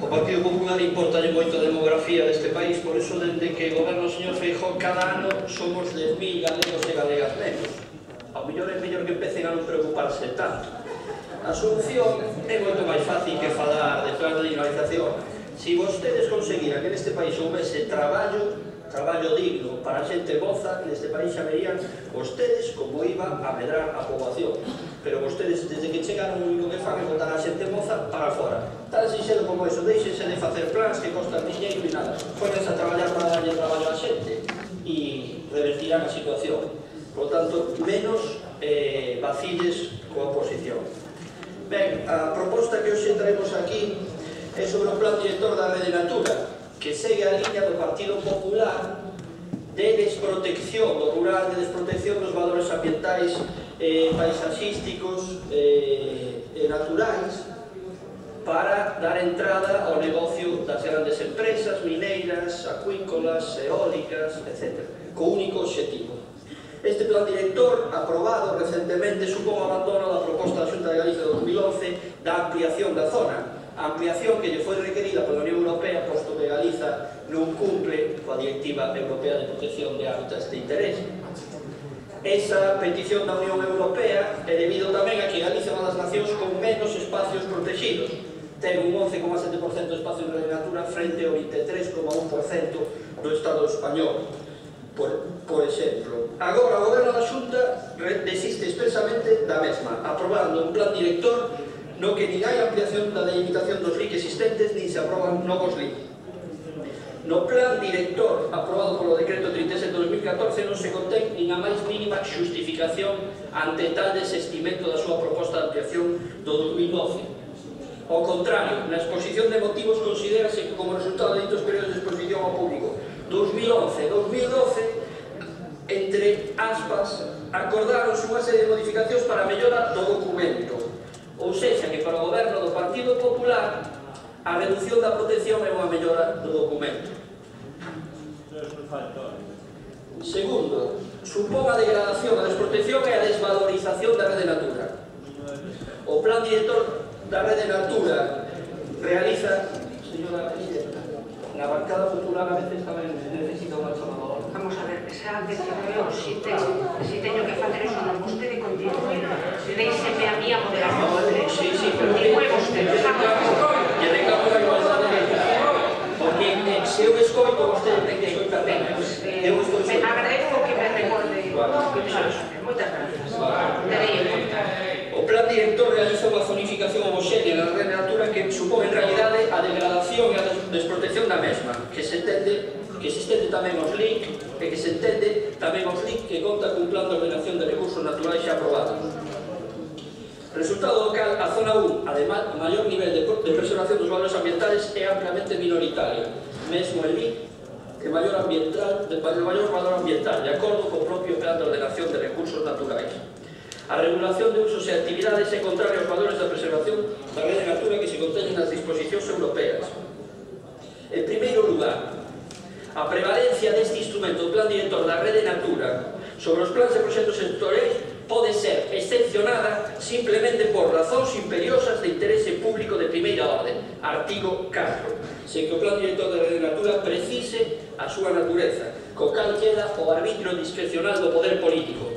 O Partido Popular importa moito a demografía deste país, por iso, dende que goberna o señor Feijóo, cada ano somos 10.000 galegos e galegas menos. Ao mellor é mellor que empecen a non preocuparse tanto. A solución é moito máis fácil que falar de plan de dinamización. Se vostedes conseguiran que neste país houvese traballo digno para a xente moza, neste país xa verían vostedes como iba a medrar a poboación. Pero vostedes, desde que chegaron, o único que fan é botar a xente moza para fora. Tan sinxelo como iso, deixense de facer plans que costan diñeiro e nada. Pónganse a traballar para darlle traballo a xente e revertirán a situación. Por lo tanto, menos vacilles coa oposición. Ben, a proposta que hoxe traemos aquí é sobre o plan director da Rede Natura, que segue a liña do Partido Popular de desprotección do rural, de desprotección dos valores ambientais, paisaxísticos e naturais, para dar entrada ao negocio das grandes empresas mineiras, acuícolas, eólicas, etc., co único obxectivo. Este plan director, aprobado recentemente, supón o abandono da proposta da Xunta de Galicia de 2011 da ampliación da zona, a ampliación que lle foi requerida pola Unión Europea, posto que Galiza non cumple coa Directiva Europea de Protección de Hábitats de Interés. Esa petición da Unión Europea é debido tamén a que Galiza é unha das nacións con menos espacios protegidos. Ten un 11,7% de espacio en Rede Natura frente ao 23,1% do Estado español, por exemplo. Agora, o Goberno da Xunta desiste expresamente da mesma, aprobando un plan director no que nin hai ampliación da delimitación dos LIC existentes, nin se aproban novos LIC. No plan director aprobado polo decreto 37 de 2014 non se contén nin a máis mínima xustificación ante tal desestimento da súa proposta de ampliación do 2012. Ao contrario, na exposición de motivos considérase que como resultado de ditos períodos de exposición ao público 2011 e 2012, entre aspas, acordaronse unha serie de modificacións para a mellora do documento. Ou seja, que para o goberno do Partido Popular a reducción da protección é unha mellora do documento. Segundo, supón a degradación, a desprotección e a desvalorización da Rede Natura. O plan director da Rede Natura realiza, señora presidenta, na bancada popular a veces tamén necesita unha chamadora. Vamos a ver, esa decisión, si teño que facer eso, non vostede continúe, déixeme a mí a moderación. Sí, pero continúe vostede, lle reclamo a igualdade de género, porque se eu escoito, vostede ten que escoitar ben. Agradezco que me recorde moitas gracias. Terei en conta. O plan director realiza unha zonificación homogénea na Rede Natura que supón en realidade a degradación e a desprotección da mesma, que se estende tamén aos LIC e que se entende tamén aos LIC que conta cun plan de ordenación de recursos naturais xa aprobados. Resultado do cal, a zona 1, ademais, o maior nivel de preservación dos valores ambientales é ampliamente minoritario, mesmo el LIC de maior valor ambiental, de acordo co propio plan de ordenación de recursos naturais. A regulación de usos e actividades é contraria aos valores da preservación da Rede Natura que se conteñen nas disposicións europeas. En primeiro lugar, a prevalencia deste instrumento do plan director da Rede Natura sobre os plans de proxectos sectoriais pode ser excepcionada simplemente por razóns imperiosas de interese público de primeira orde, artigo 4, sen que o plan director da Rede Natura precise a súa natureza, co cal queda o arbitrio discrecional do poder político.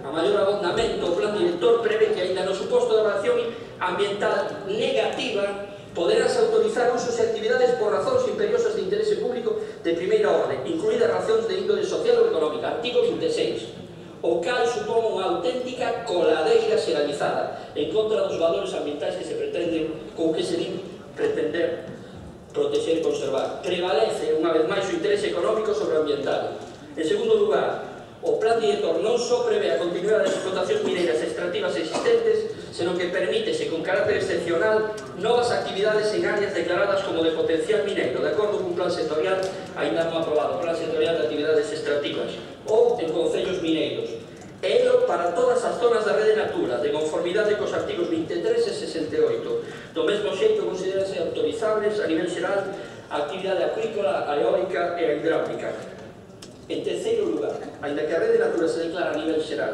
A maior abondamento, o plan director prevé que aínda no suposto de evaluación ambiental negativa poderase autorizar usos e actividades por razóns imperiosas de interese público de primeira orde, incluídas razóns de índole social ou económica, artigo 26, o cal supón unha auténtica coladeira xeralizada en contra dos valores ambientais que se pretenden, con que se din pretender proteger e conservar. Prevalece, unha vez máis, o interese económico sobre o ambiental. En segundo lugar, o plan director non só prevé a continuidade das explotacións mineiras extractivas existentes, senón que permítese con carácter excepcional novas actividades en áreas declaradas como de potencial mineiro, de acordo cun plan sectorial aínda non aprobado, plan sectorial de actividades extractivas, ou en concellos mineiros. Elo para todas as zonas da Rede Natura, de conformidade cos artigos 23 e 68. Do mesmo xeito, consideranse autorizables a nivel xeral a actividade acuícola, a eólica e a hidráulica. En terceiro lugar, aínda que a Rede Natura se declara a nivel xeral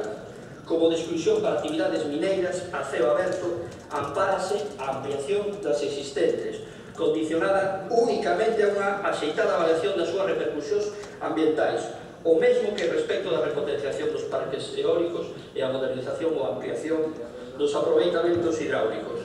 como de exclusión para actividades mineiras a ceo aberto, ampárase a ampliación das existentes, condicionada únicamente a unha axeitada avaliación das súas repercusións ambientais, o mesmo que respecto da repotenciación dos parques eólicos e a modernización ou ampliación dos aproveitamentos hidráulicos.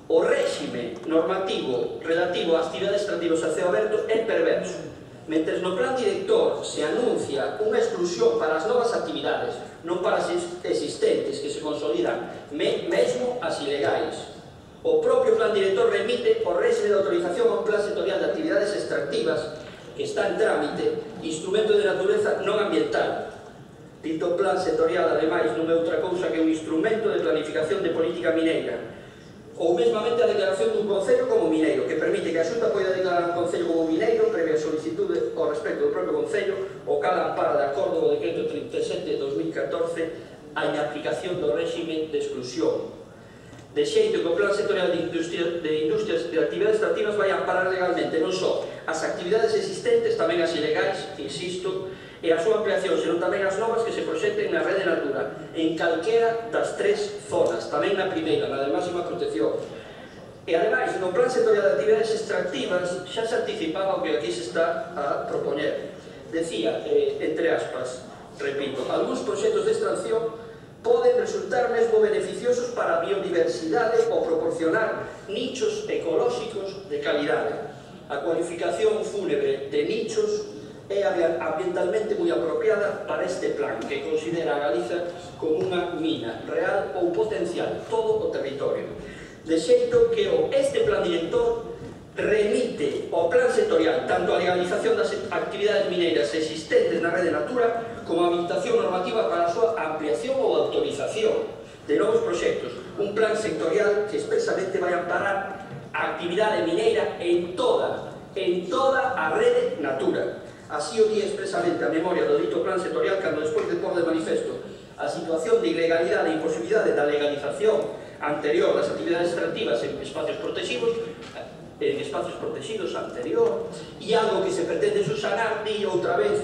O réxime normativo relativo ás actividades extractivas a ceo aberto é perverso. Mentres no plan director se anuncia unha exclusión para as novas actividades, non para as existentes que se consolidan, mesmo as ilegais. O propio plan director remite o réxime de autorización a un plan sectorial de actividades extractivas que está en trámite, instrumento de natureza non ambiental. Dito plan sectorial, ademais, non é outra cousa que un instrumento de planificación de política mineira, ou mesmamente a declaración dun concello como mineiro, que permite que a Xunta poida declarar un concello como mineiro previa solicitude ao respecto do propio concello, o cal ampara de acordo co decreto 37 de 2014 a inaplicación do réxime de exclusión. De xeito que o plan sectorial de industrias de actividades extractivas vai amparar legalmente non só as actividades existentes, tamén as ilegais, insisto, e a súa ampliación, senón tamén as novas que se proxecten na rede Natura, en calquera das tres zonas, tamén na primeira, na de máxima protección. E, ademais, no plan sectorial de actividades extractivas xa se anticipaba o que aquí se está a propoñer. Decía, entre aspas, repito, algúns proxectos de extracción poden resultar mesmo beneficiosos para a biodiversidade ou proporcionar nichos ecolóxicos de calidade. A cualificación fúnebre de nichos é ambientalmente moi apropiada para este plan, que considera a Galiza como unha mina real ou potencial todo o territorio. De xeito que este plan director remite ao plan sectorial tanto a legalización das actividades mineiras existentes na rede Natura como a habilitación normativa para a súa ampliación ou autorización de novos proxectos. Un plan sectorial que expresamente vai amparar a actividade mineira en toda a rede Natura. Así o di expresamente a memoria do dito plan sectorial cando despois de pôr de manifesto a situación de ilegalidade e imposibilidade da legalización anterior das actividades extractivas en espacios protegidos anterior, e algo que se pretende subsanar, di outra vez,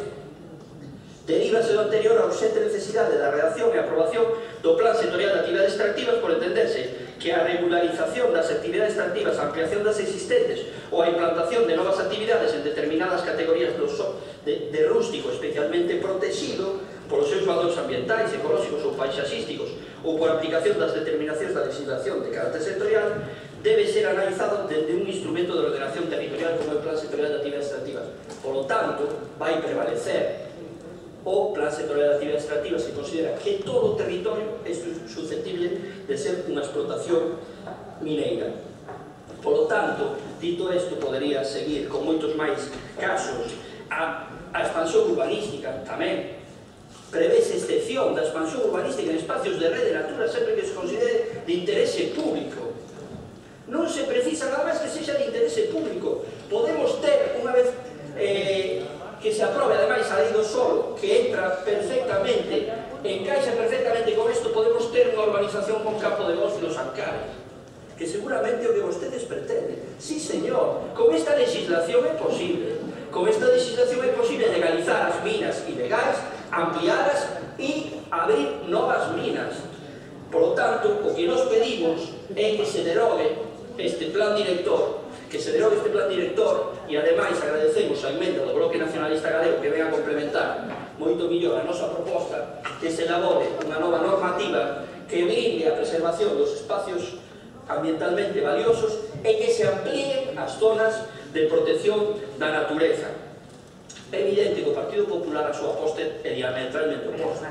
derívase do anterior a urxente necesidade da redacción e aprobación do plan sectorial de actividades extractivas por entenderse que a regularización das actividades extractivas, a ampliación das existentes ou a implantación de novas actividades en determinadas categorías de rústico especialmente protegido polos seus valores ambientais, ecolóxicos ou paisaxísticos ou por aplicación das determinacións da legislación de carácter sectorial debe ser analizado desde un instrumento de ordenación territorial como o Plan Sectorial de Actividades Extractivas. Por lo tanto, vai prevalecer o Plan Sectorial de Actividades Extractivas que considera que todo o territorio é susceptible de ser unha explotación mineira. Por lo tanto, dito isto, podería seguir con moitos máis casos. A expansión urbanística tamén prevese excepción da expansión urbanística en espacios de rede Natura sempre que se considere de interese público. Non se precisa nada máis que sexa de interese público. Podemos ter, unha vez que se aprobe ademais a lei do solo, que entra perfectamente, encaixa perfectamente con isto, podemos ter unha urbanización con campo de golf nos Ancares, que seguramente é o que vostedes pretenden. Sí, señor, con esta legislación é posible. Con esta legislación é posible legalizar as minas ilegais, amplialas e abrir novas minas. Por lo tanto, o que nos pedimos é que se derogue este plan director, e ademais agradecemos a emenda do Bloque Nacionalista Galego que ven a complementar moito millor a nosa proposta, que se elabore unha nova normativa que blinde a preservación dos espacios ambientalmente valiosos e que se amplíen as zonas de protección da natureza. É evidente que o Partido Popular a súa aposta é diametralmente oposta.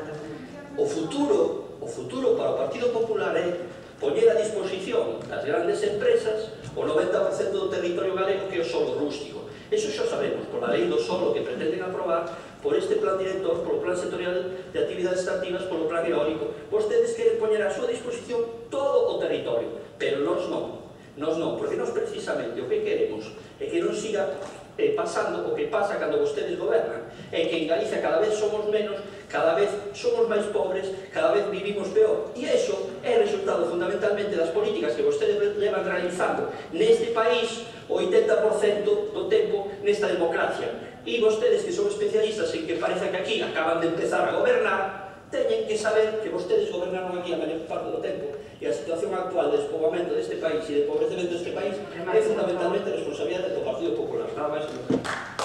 O futuro para o Partido Popular é poñer a disposición das grandes empresas o 90% do territorio galego que é o solo rústico. Eso xa sabemos, pola lei do solo que pretenden aprobar, por este plan director, polo plan sectorial de actividades extractivas, polo plan eólico. Vostedes queren poñer a súa disposición todo o territorio, pero nós non, porque nós precisamente o que queremos é que non siga pasando o que pasa cando vostedes gobernan, é que en Galicia cada vez somos menos, cada vez somos máis pobres, cada vez vivimos peor, e iso é resultado fundamentalmente das políticas que vostedes levan realizando neste país o 80% do tempo nesta democracia. E vostedes que son especialistas en que parece que aquí acaban de empezar a gobernar, teñen que saber que vostedes gobernaron aquí a maior parte do tempo E a situación actual de despoboamento deste país e de empobrecemento deste país é fundamentalmente responsabilidade do Partido Popular. Nada máis e